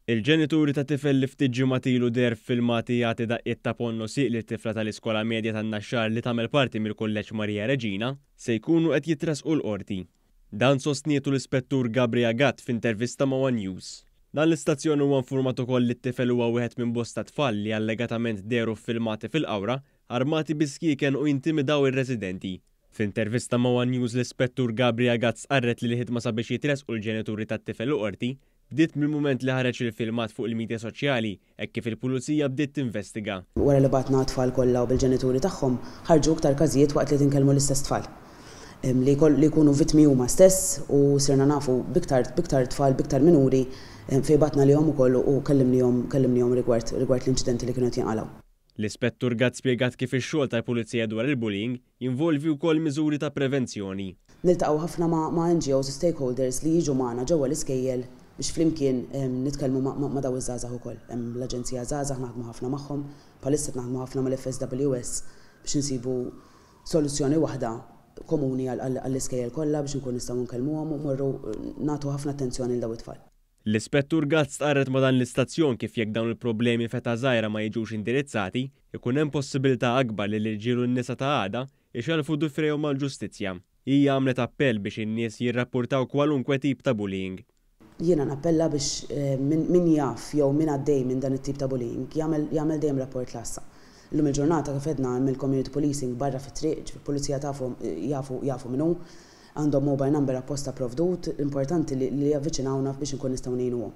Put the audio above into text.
Il-ġenituri ta' tifel li ftit ġimgħat ilu deher f'filmati jagħti daqqiet ta' ponn u sieq lil tifla tal-Iskola Medja tan-Naxxar li tagħmel parti mill-Kulleġġ Maria Reġina se jkunu qed jitressqu l-Qorti. Dan sostnietu l-Ispettur Gabria Gatt f'intervista ma' one News. Dan l-istazzjon huwa infurmat ukoll li t-tifel huwa wieħed minn bosta tfal li allegatament dehru f'filmati fil-Qawra armati bi skieken u jintimidaw ir-residenti. F'intervista ma' one News l-Ispettur Gabria Gatt stqarret li l-ħidma sabiex jitressqu l-ġenituri tat-tifel il-Qorti bdiet mill-mument li ħareġ il-filmat fuq il-midja soċjali hekk kif il-Pulizija bdiet tinvestiga. Wara li bgħatna għat-tfal kollha u bil-ġenituri tagħhom, ħarġu iktar każijiet waqt li qed inkellmu l-istess tfal li li jkunu vittmi huma stess u sirna nafu b'iktar b'iktar tfal, b'iktar minuri fejn bgħatna lihom ukoll u kellimnihom kellimnihom rigward rigward l-inċidenti li kienu qed jinqalgħu. L-Ispettur Gatt spjegat kif ix-xogħol tal-Pulizija dwar il-bullying jinvolvi wkoll miżuri ta' prevenzjoni. Niltaqgħu ħafna ma' ma' NGOs u stakeholders li jiġu magħna ġewwa l-iskejjel biex flimkien nitkellmu ma' ma' dawn iż-żgħażagħ ukoll. Hemm l-Aġenzija Żgħażagħ naħdmu ħafna magħhom, bħalissa qed naħdmu ħafna mal-FSWS biex insibu soluzzjoni waħda komuni għall-iskejjel kollha biex inkunu nistgħu nkellmuhom u mmorru nagħtu ħafna attenzjoni lil dawn it-tfal. L-Ispettur Gatt stqarret ma' dan l-istazzjon kif jekk dawn il-problemi f'età żgħira ma jiġux indirizzati, ikun hemm possibilità akbar li l-irġiel u n-nisa ta' għada ixellfu difrejhom mal-ġustizzja. Hija għamlet appell biex in-nies jirrappurtaw kwalunkwe tip ta' bullying. Jiena nappella biex min jaf jew min għaddej minn dan it-tip ta' bullying jagħmel jagħmel dejjem rapport l-għassa. Illum il-ġurnata kif għedna hemm il-community policing barra fit-triq, ġifieri pulizija tafu jafu jafu min hu. Għandhom mobile number apposta provdut, importanti li li javviċinawna biex inkun nistgħu ngħinuhom.